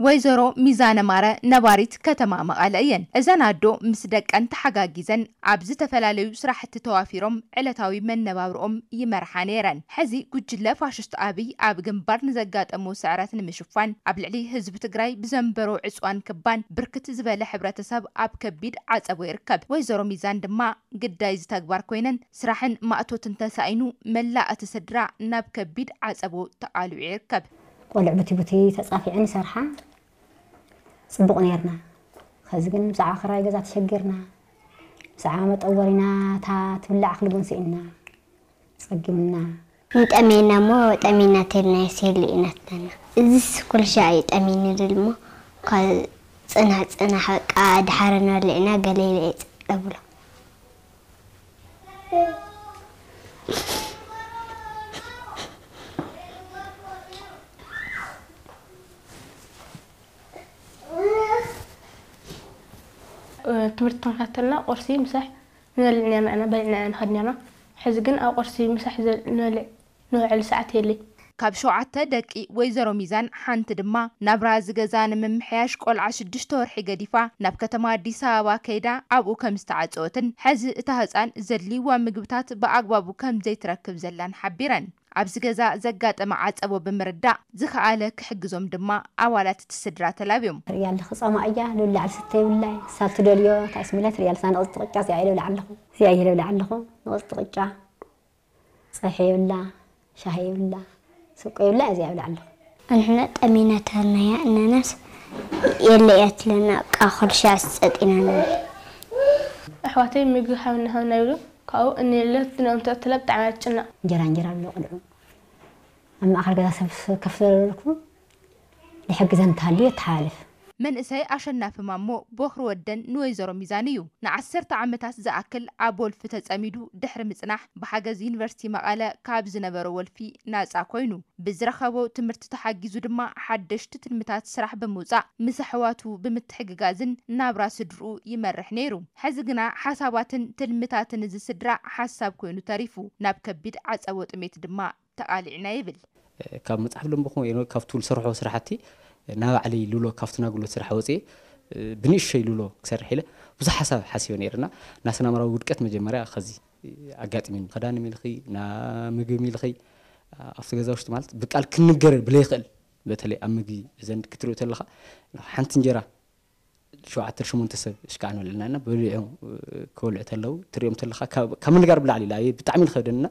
ወይዘሮ ሚዛነ ማረ ነባሪት ከተማ መቐለ እየን። እዘን ኣዶ ምስ ደቀን ተሓጋጊዘን ኣብ ዝተፈላለዩ ስራሕቲ ተዋፊሮም ዕለታዊ መነባብርኦም ይመርሓ ነይረን። ሕዚ ጉጅለ ፋሽስት ኣብይ ኣብ ግንባር ንዘጋጠሞ ስዕረት ንምሽፋን ኣብ ልዕሊ ህዝቢ ትግራይ ብዘንበሮ ዕፅዋን ክባን ብርክት ዝበለ ሕብረተሰብ ኣብ ከቢድ ዓፀቦ ይርከብ። ወይዘሮ ሚዛን ድማ ግዳይ እዚ ተግባር ኮይነን ስራሕን ማእቶትን ተሳኢኑ መላእ እቲ ስድራ ናብ ከቢድ ዓፀቦ ተቓሊዑ ይርከብ። ቆልዕ ቡቲ ቡቲ ተጻፊዐን ይሰርሓ። ጽቡቕ ነይርና። ኸዚ ግን ብዛዕባ ክራይ ገዛ ተሸጊርና። ብዛዕባ መጠወሪና እታ ትብላዕ ክልቡን ስኢንና። ጸጊምና። ንጠሜና እሞ ጠሜና ተልና የሴሉ ኢናትና። እዚስ ኩልሻ እዩ ጠሜኒ ድልሞ። ጽናሕ ጽናሕ በቃ ድሓረ ንበልዕና ገለ ኢለ እየ እብሎ። ትምህርቲ ተኸታተልና ቁርሲ ምሳሕ ንበልዕ ነርና ኢና፣ በሊዕና ኢና ንኸድ ነርና። ሕዚ ግን ኣብ ቁርሲ ምሳሕ ዘ- ንበልዕ ንውዕል ሰዓት የለይ። ካብ ሸውዓተ ደቂ ወይዘሮ ሚዛን ሓንቲ ድማ ናብራ እዚ ገዛ ንምምሕያሽ ቆልዓ ሽዱሽተ ወርሒ ገዲፋ ናብ ከተማ ኣዲስ ኣበባ ከይዳ ኣብኡ ከም ዝተዓፀወትን ሕዚ እታ ህፃን ዘድልይዋ ምግብታት ብኣግባቡ ከም ዘይትረክብ ዘላን ሓቢረን። ኣብዚ ገዛ ዘጋጠመ ዓፀቦ ብምርዳእ ዝኸኣለ ክሕግዞም ድማ ኣባላት እቲ ስድራ ተላብዮም። ትርእያ ኣለኺ ጻማ እያ ልብላዕ ዝስተ ይብላይ ሳብ ትደልዮ ታስሚላ ትርእያ ኣለሳ ንቕጽ ጥቕጫ እዚኣ ይልብላ ኣለኹ እዚኣ ይልብላ ኣለኹ ንቕጽ ጥቕጫ ጸሐ ይብላ ሻሂ ይብላ ስቆ ይብላ እዚኣ ይብላ ኣለኹ። ኣንሕና ጠሚና ተርናያ እናናስ የለ እያ ትለና ቃ ኩልሻ ጸጢና ንብል። ኣሕዋተይ ምግቢ ሃብና ሃብና ይብሉ ካብኡ እንየለ ትንኦም ተእትለ ብጣዕሚ ኣትጭነቕ። እንጀራ እንጀራ ብሎ ቅልዑ ኣብ ማእኸል ገዛ ሰብ ከፍ ዘለልኩ ንሕግዘን እንተሃልዩ የተሓላልፍ። መንእሰይ ኣሸናፊ ማሞ ቦኽሪ ወደን ንወይዘሮ ሚዛን እዩ። ንዓሰርተ ዓመታት ዝኣክል ኣብ ወልፊ ተጸሚዱ ድሕሪ ምጽናሕ ብሓገዝ ዩኒቨርሲቲ መቐለ ካብ ዝነበሮ ወልፊ ናጻ ኮይኑ ብዝረኸቦ ትምህርቲ ተሓጊዙ ድማ ሓደሽቲ ትልምታት ስራሕ ብምውጻእ ምስ ኣሕዋቱ ብምትሕግጋዝን ናብራ ስድርኡ ይመርሕ ነይሩ። ሕዚ ግና ሓሳባትን ትልምታትን እዚ ስድራ ሓሳብ ኮይኑ ተሪፉ ናብ ከቢድ ዓጸቦ ጥሜት ድማ ተቓሊዕና ይብል። ካብ መጽሓፍ ለንበኹ ወይ ካብ ትውል ሰርሖ ስራሕቲ ናብ ባዕለይ ሉሎ ካብቲ ናጉሎት ስራሕ ወፅየ ብንእሸይ ሉሎ ክሰርሕ ኢለ ብዙሕ ሓሳብ ሓሲበ ነይርና ናስናምራዊ ውድቀት መጀመርያ ከዚ ኣጋጥሚኒ ክዳን ሚልኺ ና ምግቢ ሚልኺ ኣብቲ ገዛ ውሽጢ ማለት ብቃል ክንገር ብለይኽእል በተለይ ኣብ ምግቢ ዘንድ ክትሪኡ ተለኻ ሓንቲ እንጀራ ሸውዓተ ሸሞንተ ሰብ እሽካዕ ንበልዕና ኢና በሊዑ ክበልዑ ተለዉ ትሪኦም ተለካ ካብ ምንጋር ብላዕሊ ኢላ ብጣዕሚ ዝኸብደንና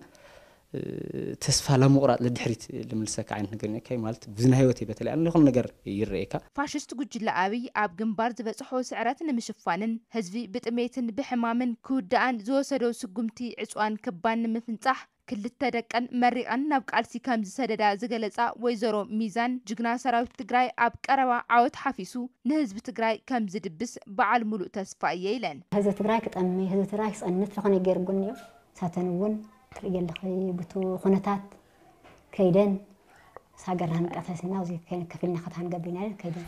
ተስፋ ላምቑራጥ ልድሕሪት ልምልሰካ ዓይነት ነገር ነካይ ማለት ብዝና ህይወት በተለይ ኣነ ዝኾነ ነገር ይረኤካ። ፋሽስት ጉጅለ ኣብይ ኣብ ግንባር ዝበፅሖ ስዕረት ንምሽፋንን ህዝቢ ብጥሜትን ብሕማምን ክውድኣን ዝወሰዶ ስጉምቲ ዕፅዋን ክባን ንምፍንፃሕ ክልተ ደቀን መሪቐን ናብ ቃልሲ ከም ዝሰደዳ ዝገለጻ ወይዘሮ ሚዛን ጅግና ሰራዊት ትግራይ ኣብ ቀረባ ዓወት ሓፊሱ ንህዝቢ ትግራይ ከም ዝድብስ በዓል ሙሉእ ተስፋ እየ ኢለን። ህዝቢ ትግራይ ክጠሚ ህዝቢ ትግራይ ክፀንት ዝኾነ ገይርጉን እዩ። ሳተን እውን ትርኢ ኣለኺ ብቱ ኩነታት ከይደን ሳገርና ንቀተስና እዚ ከፊልና ከተሃንገብሪና ከይደን